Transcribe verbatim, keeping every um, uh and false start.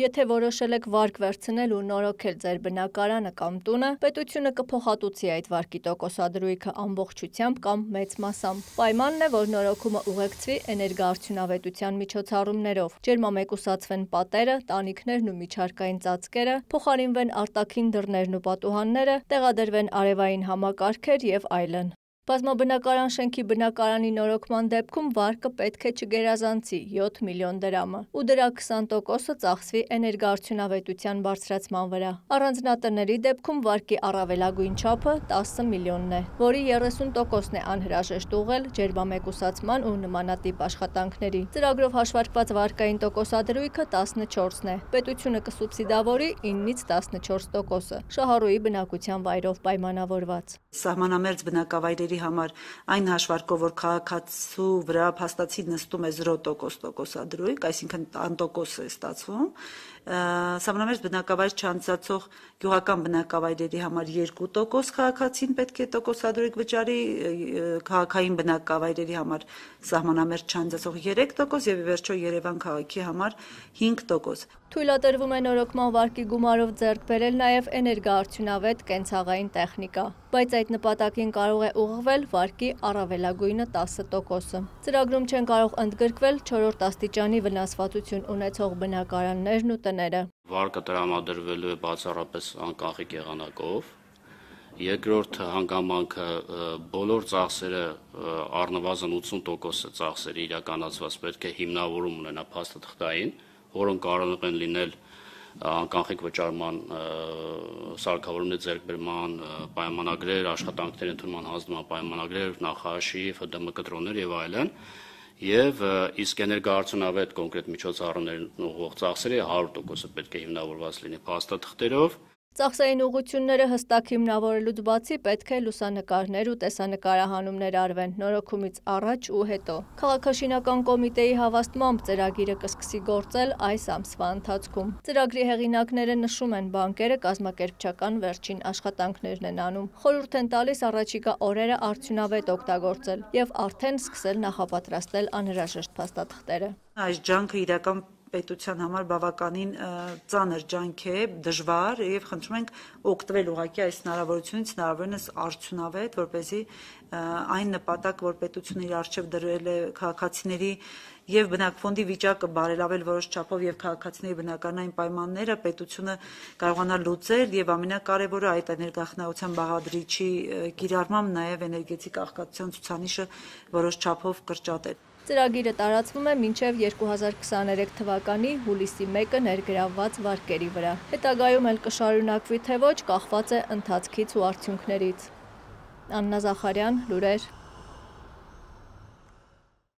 Եթե որոշել եք վարկ վերցնել ու նորոգել ձեր բնակարանը կամ տունը, պետությունը կփոխհատուցի այդ վարկի տոկոսադրույքը ամբողջությամբ կամ մեծ մասամբ։ Պայմանն է, որ նորոգումը ուղեկցվի էներգոարդյունավետության միջոցառումներով, ջերմամեկուսացվեն պատերը, տանիքներն ու միջհարկային ծածկերը, փոխարինվեն արտաքին դռներն ու պատուհանները, տեղադրվեն արևային համակարգեր եւ այլն։ Բազմաբնակարան շենքի բնակարանի նորոգման դեպքում վարկը պետք է չգերազանցի յոթ միլիոն դրամը, ու դրա քսան տոկոսը ծախսվի էներգոարդյունավետության բարձրացման վրա։ Առանձնատների դեպքում վարկի առավելագույն չափը տասը միլիոնն է, որի երեսուն տոկոսն է անհրաժեշտ ուղղել ջերմամեկուսացման ու նմանատիպ աշխատանքների։ Ծրագրով հաշվարկված վարկային տոկոսադրույքը տասնչորսն է, պետությունը կսուբսիդավորի իննից տասնչորս տոկոսը, շահառուի բնակության վայրով պայմանավորված։ Սահմանամերձ բնակավայրերի համար այն հաշվարկով, որ քաղաքացու վրա փաստացի նստում է զրո տոկոս տոկոսադրույք, այսինքն անտոկոս է ստացվում, սահմանամերձ բնակավայր չանցկացող գյուղական բնակավայրերի համար երկու տոկոս քաղաքացին պետք է տոկոսադրույք վճարի, քաղաքային բնակավայրերի համար սահմանամերձ չանցկացող երեք տոկոս եւ ի վերջո Երևան քաղաքի համար հինգ տոկոս։ Թույլատրվում է նորոգման վարկի գումարով ձեռք բերել նաև էներգոարդյունավետ կենցաղային տեխնիկա, բայց այդ նպատակին կարող է ուղղվել վարկի առավելագույնը տասը տոկոսը։ Ծրագրում չեն կարող ընդգրկվել չորրորդ աստիճանի վնասվածություն ունեցող բնակարաններն ու տները։ Վարկը տրամադրվելու է բացառապես անկախիկ եղանակով։ Երկրորդ հանգամանքը բոլոր ծախսերը առնվազն ութսուն տոկոսը ծախսերի իրականացված պետք է հիմնավորում ունենա փաստաթղթային, որոնք կարող են լինել անկախիկ վճարման սարքավորումների ձեռքբերման պայմանագրեր, աշխատանքների ընդունման հանձնման պայմանագրեր, նախաշի, Ֆ ԴՄ կտրոններ եւ այլն, եւ իսկ էներգոարդյունավետ կոնկրետ միջոցառումներին ուղղող ծախսերի հարյուր տոկոսը պետք է հիմնավորված լինի փաստաթղթերով։ Ծախսային ուղղությունները հստակ հիմնավորելուց բացի պետք է լուսանկարներ ու տեսանկարահանումներ արվեն նորոգումից առաջ ու հետո։ Քաղաքաշինական կոմիտեի հավաստմամբ ծրագիրը կսկսի գործել այս ամսվա ընթացքում։ Ծրագրի հեղինակները նշում են, բանկերը կազմակերպչական վերջին աշխատանքներն են անում, խորհուրդ են տալիս առաջիկա օրերը արդյունավետ օգտագործել եւ արդեն սկսել նախապատրաստել անհրաժեշտ փաստաթղթերը։ Այս ջանքը իրական պետության համար բավականին ծանր ջանք է, դժվար եւ խնդրում ենք օգտվել ուղղակի այս հնարավորությունից հնարավորինս արդյունավետ, որպեսզի այն նպատակ, որ պետությունը իր արժեվ դրել է քաղաքացիների եւ բնակֆոնդի վիճակը բարելավել որոշ չափով եւ քաղաքացիների բնակարանային պայմանները պետությունը կարողանա լուծել եւ ամենակարևորը այդ էներգախնայության բաղադրիչի կիրառմամբ նաեւ էներգետիկ աղքատության ցուցանիշը որոշ չափով կրճատել։ Ծրագիրը տարածվում է մինչև երկու հազար քսաներեք թվականի հուլիսի մեկը ներգրավված վարկերի վրա։ Հետագայում էլ կշարունակվի թե ոչ, կախված է ընթացքից ու արդյունքներից։ Աննա Զախարյան, լուրեր։